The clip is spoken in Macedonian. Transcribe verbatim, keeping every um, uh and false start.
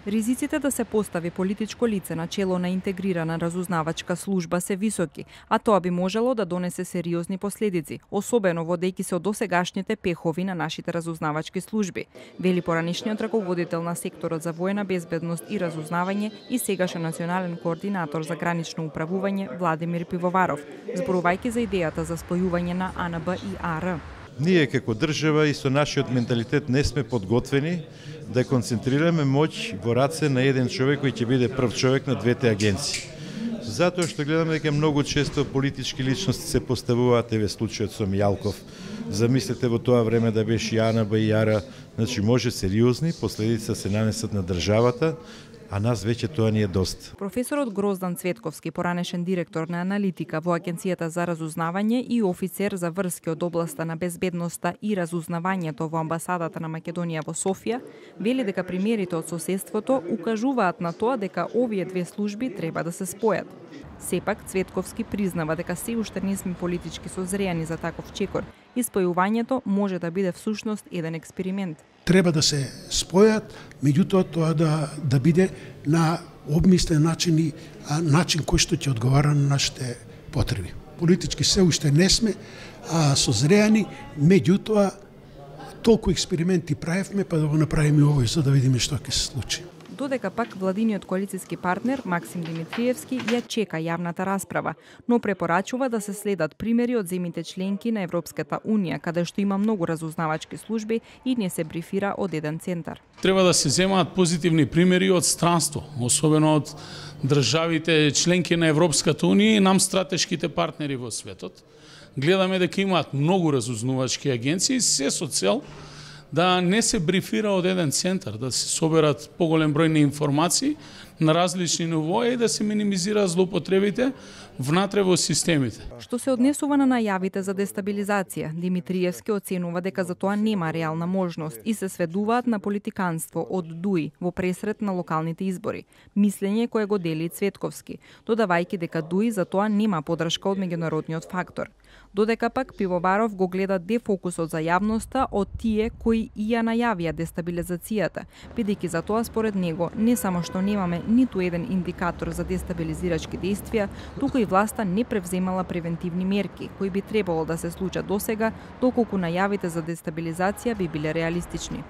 Ризиците да се постави политичко лице на чело на интегрирана разузнавачка служба се високи, а тоа би можело да донесе сериозни последици, особено водејќи се од досегашните пехови на нашите разузнавачки служби, вели поранишниот раководител на секторот за војна безбедност и разузнавање и сегашен национален координатор за гранично управување Владимир Пивоваров, зборувајќи за идејата за спојување на А Н Б и А Р. Ние како држава и со нашиот менталитет не сме подготвени да концентрираме моќ во раце на еден човек кој ќе биде прв човек на двете агенции. Затоа што гледаме дека многу често политички личности се поставуваат, еве случајот со Мијалков. Замислете во тоа време да беше и А Н Б и А Р, значи може сериозни последици да се нанесат на државата, а нас веќе тоа ни е доста. Професорот Гроздан Цветковски, поранешен директор на аналитика во Агенцијата за разузнавање и офицер за врски од областа на безбедноста и разузнавањето во амбасадата на Македонија во Софија, вели дека примерите од соседството укажуваат на тоа дека овие две служби треба да се спојат. Сепак, Цветковски признава дека се уште не сме политички созреани за таков чекор и спојувањето може да биде всушност еден експеримент. Треба да се спојат, меѓутоа тоа да, да биде на обмислен начин и а, начин кој што ќе одговара на нашите потреби. Политички се уште не сме а, созреани, меѓутоа толку експерименти правевме, па да го направиме овој за да видиме што ќе се случи. Додека пак владиниот коалициски партнер Максим Димитриевски ја чека јавната расправа, но препорачува да се следат примери од земјите членки на Европската Унија, каде што има многу разузнавачки служби и не се брифира од еден центар. Треба да се земаат позитивни примери од странство, особено од државите членки на Европската Унија и нам стратешките партнери во светот. Гледаме дека имаат многу разузнавачки агенции, се со цел да не се брифира од еден центар, да се соберат поголем број на информации на различни нивои и да се минимизираат злоупотребите внатре во системите. Што се однесува на најавите за дестабилизација, Димитриевски оценува дека за тоа нема реална можност и се сведуваат на политиканство од Дуи во пресред на локалните избори. Мислење кое го дели Цветковски, додавајќи дека Дуи за тоа нема подршка од меѓународниот фактор. Додека пак Пивоваров го гледа дефокусот за јавноста од тие кои и ја најавија дестабилизацијата, бидејќи за тоа според него не само што немаме ниту еден индикатор за дестабилизирачки действија, туку и власта не превземала превентивни мерки кои би требало да се случат досега, доколку најавите за дестабилизација би биле реалистични.